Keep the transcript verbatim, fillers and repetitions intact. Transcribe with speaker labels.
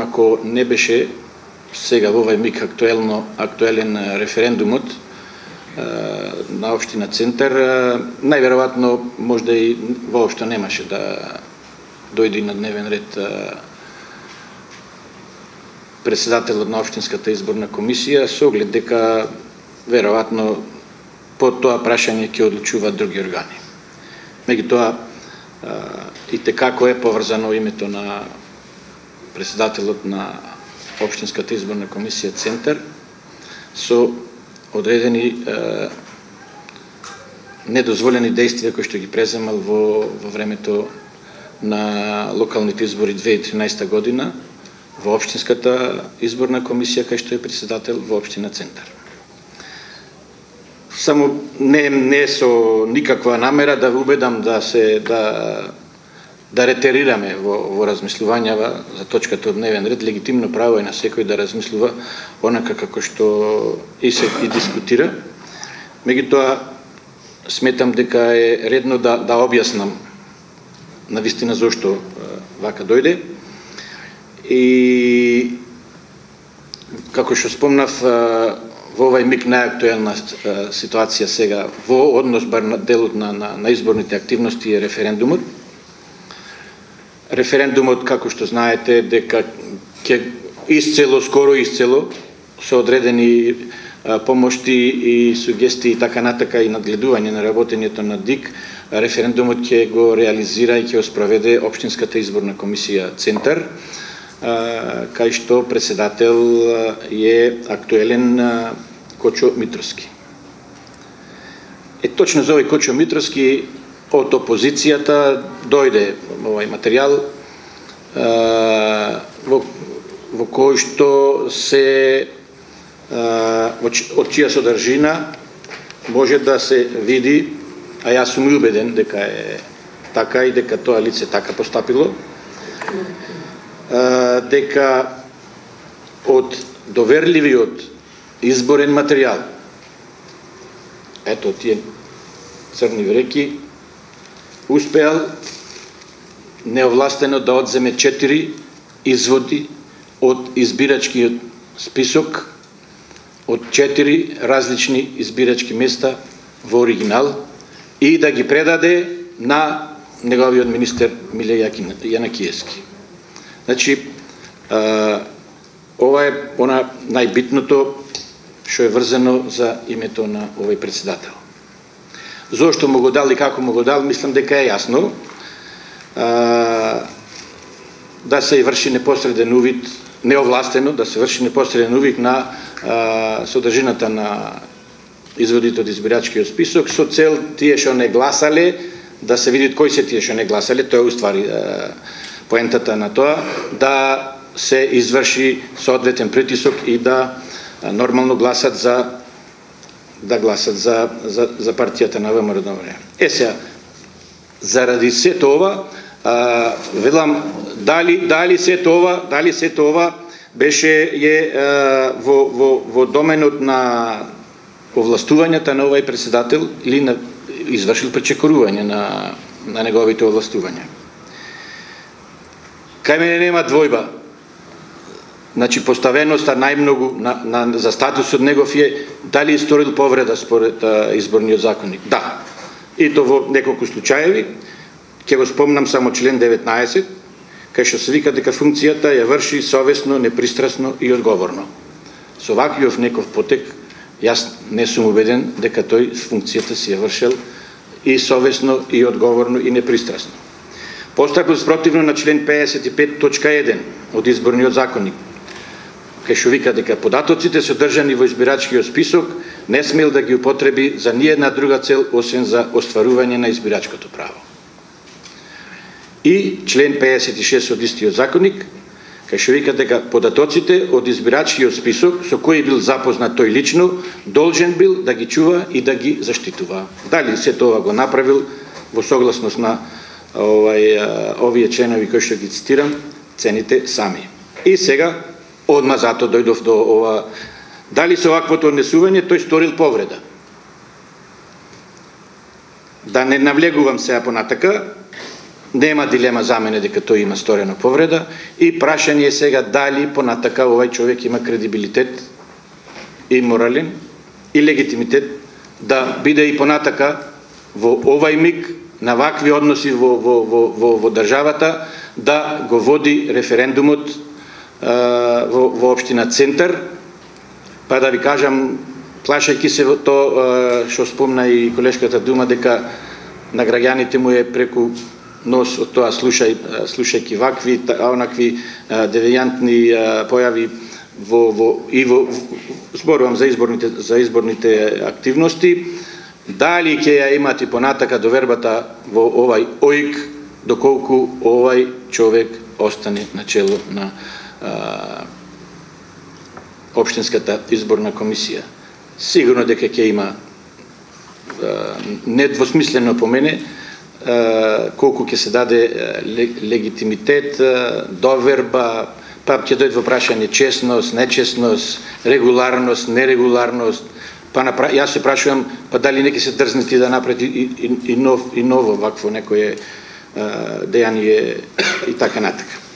Speaker 1: Ако не беше сега во овој миг актуелно актуелен референдумот на општина Центар, најверојатно можда и воопшто немаше да дојде на дневен ред председателот на општинската изборна комисија, со оглед дека веројатно по тоа прашање ќе одлучуваат други органи. Меѓутоа, и како е поврзано името на председателот на општинската изборна комисија Центар со одредени е, недозволени действија кои што ги преземал во, во времето на локалните избори две илјади и тринаесета година во општинската изборна комисија кај што е председател во општина Центар. Само не не со никаква намера да ве убедам да се да да ретерираме во, во размислувањава за точката од дневен ред. Легитимно право е на секој да размислува онака како што и се и дискутира. Меѓутоа, сметам дека е редно да, да објаснам навистина зошто вака дојде. И како што спомнав, во овај миг најактуелна ситуација сега во однос бар на делот на, на, на изборните активности е референдумот. Референдумот, како што знаете, дека ќе исцело, скоро исцело, со одредени а, помошти и сугестии и така натака и надгледување на работењето на ДИК, референдумот ќе го реализира и ќе го спроведе општинската изборна комисија Центар, а, кај што председател е актуелен а, Кочо Митровски. Е точно за овој Кочо Митровски од опозицијата дојде овај материјал во, во кој што се од чија содржина може да се види, а јас сум убеден дека е така и дека тоа лице така постапило, дека од доверливиот изборен материјал, ето тие црни вреки, успеал неовластено да одземе четири изводи од избирачкиот список од четири различни избирачки места во оригинал и да ги предаде на неговиот министер Миле Јанакиевски. Значи, ова е она најбитното што е врзано за името на овој председател. Зошто му го дал и како му го дал, мислам дека е јасно. А, да се врши непосреден увид, неовластено, да се врши непосреден увид на а, содржината на изводите од избирачкиот список, со цел тие што не гласале, да се види кои се тие што не гласале, тоа е уствари а, поентата на тоа, да се изврши соодветен притисок и да а, нормално гласат за да гласат за, за, за партијата на ВМРО. Е сега, заради сето ова, а, велам, дали, дали сето ова, дали сето ова беше е, а, во, во, во доменот на овластувањата на овој председател или на извршил пречекорување на, на неговите овластувања. Кај мене нема двојба. Значи, поставеноста најмногу на, на, за статусот негов е дали е сторил повреда според а, изборниот законник. Да. И то во неколку случаеви, ќе го спомнам само член деветнаесет, кај што се вика дека функцијата ја врши совесно, непристрасно и одговорно. Со ваквиот неков потек, јас не сум убеден дека тој функцијата си ја вршел и совесно, и одговорно, и непристрасно. Постапил спротивно на член пеесет и пет точка еден од изборниот законник, кај што вика дека податоците содржани во избирачкиот список не смел да ги употреби за ниедна друга цел освен за остварување на избирачкото право. И член пеесет и шест од истиот законник, кај што вика дека податоците од избирачкиот список со кои бил запознат тој лично, должен бил да ги чува и да ги заштитува. Дали се тоа го направил во согласност на овај, овие членови кои што ги цитирам, цените сами. И сега, одма зато дојдов до ова, дали со ваквото однесување тој сторил повреда. Да не навлегувам сега понатака, нема дилема за мене дека тој има сторена повреда и прашање е сега дали понатака овај човек има кредибилитет и морален и легитимитет да биде и понатака во овај миг на вакви односи во, во, во, во, во државата да го води референдумот а, во, во општина Центар. Па да ви кажам, плашајќи се во тоа што спомна и колешката Дума, дека на граѓаните му е преку нос од тоа слушај, слушајќи вакви, онакви девијантни појави во, во, и во, зборувам за изборните, за изборните активности, дали ќе ја имати понатака довербата во овај ОИК, доколку овај човек остане на чело на а, Општинската изборна комисија. Сигурно дека ќе има а, недвосмислено по мене колку ќе се даде легитимитет, доверба, па ќе дојде во прашање честност, нечестност, регуларност, нерегуларност. Па напра... јас се прашувам, па дали не ќе се дрзнети да направи и, и, и, нов, и ново вакво некое дејание и така натака.